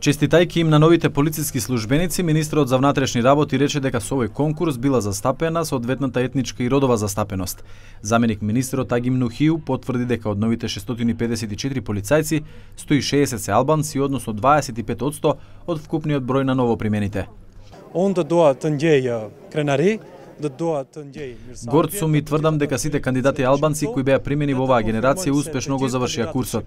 Честитајќи им на новите полициски службеници, министерот за внатрешни работи рече дека со овој конкурс била застапена соодветната етничка и родова застапеност. Заменик министерот Агим Нухију потврди дека од новите 654 полицајци, 160 се албанци, односно 25% од вкупниот број на новопримените. Горд сум и тврдам дека сите кандидати албанци кои беа примени во оваа генерација успешно го завршија курсот.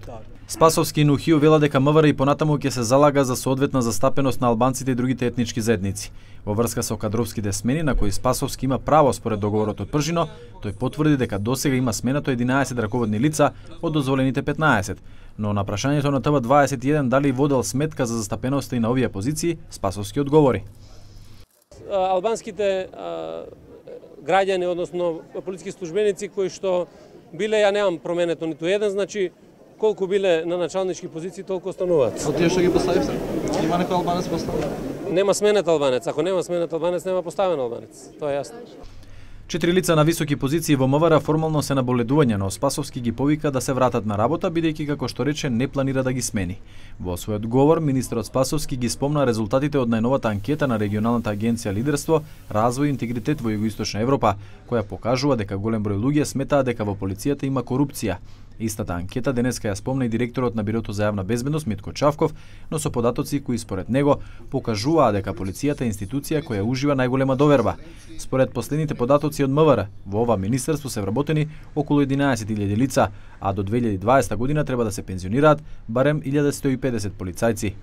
Спасовски и Нухију вела дека МВР и понатаму ќе се залага за соодветна застапеност на албанците и другите етнички заедници. Во врска со кадровските смени на кои Спасовски има право според договорот од Пржино, тој потврди дека досега има сменато 11 раководни лица од дозволените 15. Но на прашањето на ТВ21 дали водел сметка за застапеноста и на овие позиции, Спасовски одговори. Албанските граѓани, односно полициски службеници кои што биле, ја немам променето ниту еден, значи колку биле на началнички позиции, толку остануваат. Од тие што ги поставив се? Има некој албанец поставен? Нема сменет албанец. Ако нема сменет албанец, нема поставен албанец. Тоа е јасно. 4 лица на високи позиции во МВР формално се на боледување, но Спасовски ги повика да се вратат на работа, бидејќи како што рече не планира да ги смени. Во својот говор, министерот Спасовски ги спомна резултатите од најновата анкета на регионалната агенција Лидерство, развој и интегритет во Југоисточна Европа, која покажува дека голем број луѓе сметаат дека во полицијата има корупција. Истата анкета денеска ја спомна и директорот на Бирото за јавна безбедност Митко Чавков, но со податоци кои според него покажуваа дека полицијата е институција која ужива најголема доверба. Според последните податоци од МВР, во ова министерство се вработени околу 11.000 лица, а до 2020 година треба да се пензионираат барем 1150 полицајци.